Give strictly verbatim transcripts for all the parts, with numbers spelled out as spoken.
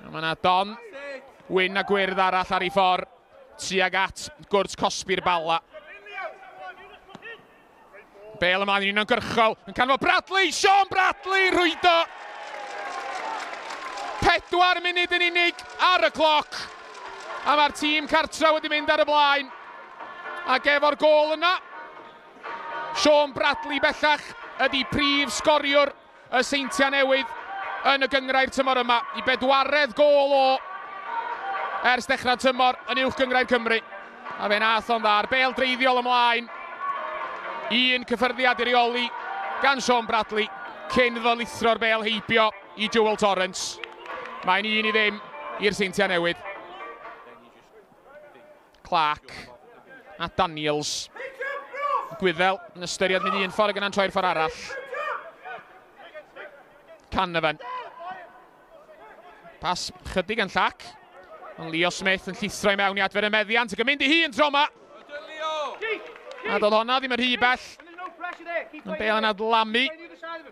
A mae yna Don wyn a gwyrdd arall ar ei ffordd tuag at gwrt cosbi'r Bala. Bale ymlaen yn uniongyrchol, yn canfod Bradley, Sean Bradley rhwydo. Pedwar munud yn unig ar y cloc. A mae'r tîm cartra wedi mynd ar y blaen. Ac efo'r gôl yna, Sean Bradley bellach ydy prif sgoriwr y Seintiau Newydd yn y gynghrair tymor yma. I bedwaredd gôl o ers dechrau tymor yn Uwch Gynghrair Cymru. A fe nath o'n dda, bêl dreiddiol ymlaen. Un cyffyrddiad i reoli gan Sean Bradley cyn iddo lithro'r bêl heibio i Joel Torrance. Mae'n un i ddim i'r Seintiau Newydd. Clark a Daniels. Gwyddel yn ystyried mynd un ffordd ac yna'n troi'r ffordd arall. Canavan. Pas chydig yn llac. Ond Leo Smith yn llithro i mewn i adfer y meddiant ac yn mynd i hun tro yma. A doedd honna ddim yn rhy bell. Yn bêl yn adlamu.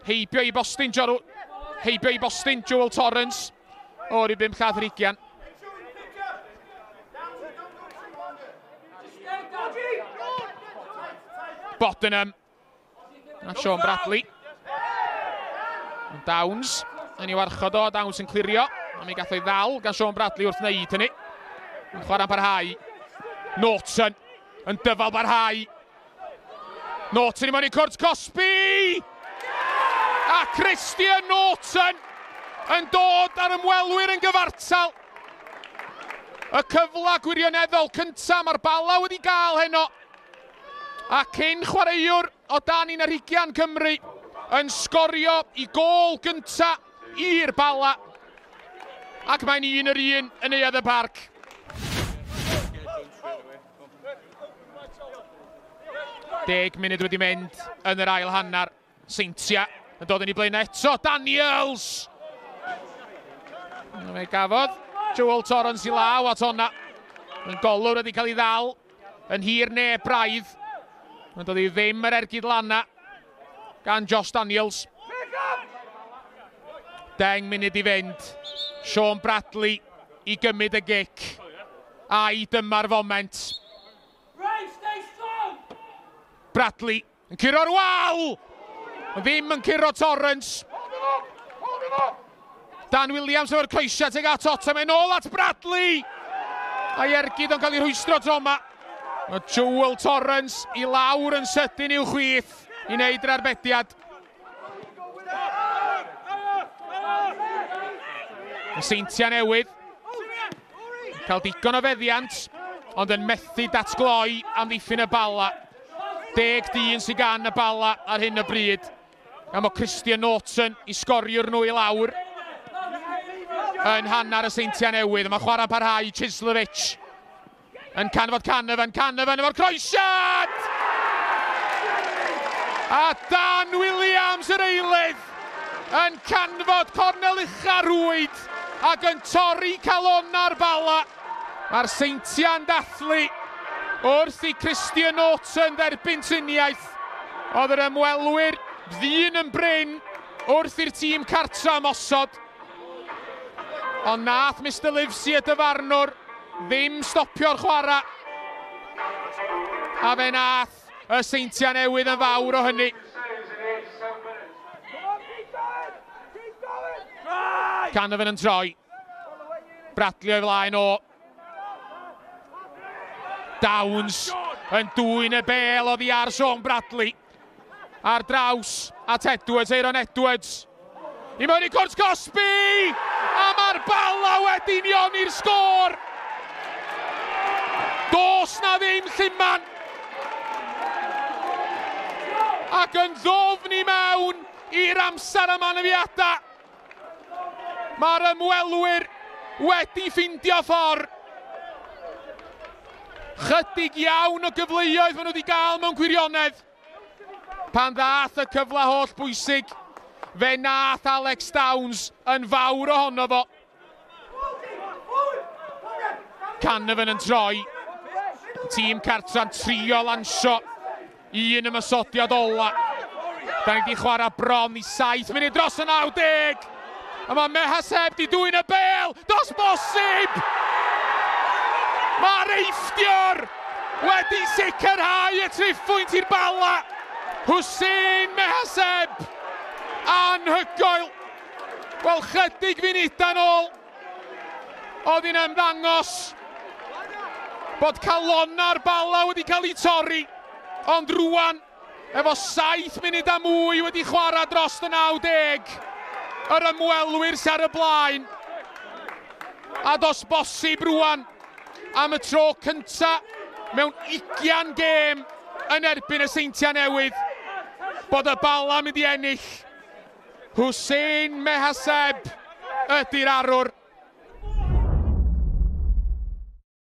Heibio i bostyn, Joru, heibio i bostyn Joel Torrance o'r i bum llath yr ugian. Bodenham a Sean Bradley. Downs yn ei warchod o, Downs yn clirio. A mi gath o'i ddal gan Sean Bradley wrth wneud hynny. Yn chwarae'n parhau. Norton yn dyfal barhau. Norton i mewn i cwrt cosbi! A Christian Norton yn dod ar ymwelwyr yn gyfartal. Y cyfle gwirioneddol cyntaf mae'r Bala wedi gael heno. A cyn chwaraewr o dan un ar hugain Cymru yn sgorio i gôl gynta i'r Bala. Ac mae'n un yr un yn Neuadd y Parc. Deg munud wedi mynd yn yr ail hanner. Seintiau yn dod yn ei blaen eto. Daniels! Fe gafodd Joel Torrance i law at honna. Yn golwr wedi cael ei ddal yn hir neu braidd. Mae'n dod i ddim yr ergyd lana gan Josh Daniels. Deng munud i fynd. Sean Bradley i gymryd y gic. Ai dyma'r foment. Bradley yn curo'r wal! Ddim yn curo Torrance. Dan Williams efo'r croesiad tuag at Otta. Mae'n ôl at Bradley! A'i ergyd o'n cael ei rhwystro tro yma. Mae Joel Torrance i lawr yn sydyn i'w chwith i wneud yr arbediad. Y Seintiau Newydd cael digon o feddiant, ond yn methu datgloi amddiffyn y Bala. Deg dyn sydd gan y Bala ar hyn o bryd. Gan bod Christian Norton i sgoriwr nhw i lawr yn hanner y Seintiau Newydd. Mae chwarae parhau Chislovich yn canfod Canavan, Canavan efo'r croesiad! A Dan Williams yr eilydd yn canfod cornel ucha rwyd ac yn torri calona'r Bala. Mae'r Seintiau'n dathlu wrth i Christian Norton dderbyn triniaeth. Oedd yr ymwelwyr ddyn yn brin wrth i'r tîm cartra ymosod. Ond nath Mister Livesey y dyfarnwr ddim stopio'r chwarae. A fe nath y Seintiau Newydd yn fawr o hynny. Canavan yn troi. Bradley o'i flaen o. Downs yn dwyn y bêl oddi ar Sean Bradley. Ar draws at Edwards, Aaron Edwards. I mewn i cwrt cosbi! A mae'r Bala wedi unioni'r sgôr! Does na ddim lluman! Ac yn ddofn i mewn i'r amser am anafiadau. Mae'r ymwelwyr wedi ffindio ffordd. Chydig iawn o gyfleoedd maen nhw wedi gael mewn gwirionedd. Pan ddath y cyfle holl bwysig, fe nath Alex Downs yn fawr ohono fo. Canavan yn troi. Tîm cartra'n trio lansio un ymosodiad ola. Da ni wedi chwarae bron i saith munud dros y naw deg. A mae Mehaseb di dwyn y bel. Dos bosib! Mae'r Eifftiwr wedi sicrhau y triphwynt i'r Bala. Hussein Mehaseb! Anhygoel! Wel, chydig funudau nôl, oedd hi'n ymddangos bod calonna'r Bala wedi cael ei torri. Ond rwan, efo saith munud a mwy wedi chwarae dros y naw deg, yr ymwelwyr sy'n ar y blaen. A dos bosib rwan, am y tro cynta mewn ugian gêm yn erbyn y Seintiau Newydd, bod y Bala mynd i ennill. Hussein Mehaseb ydy'r arwr.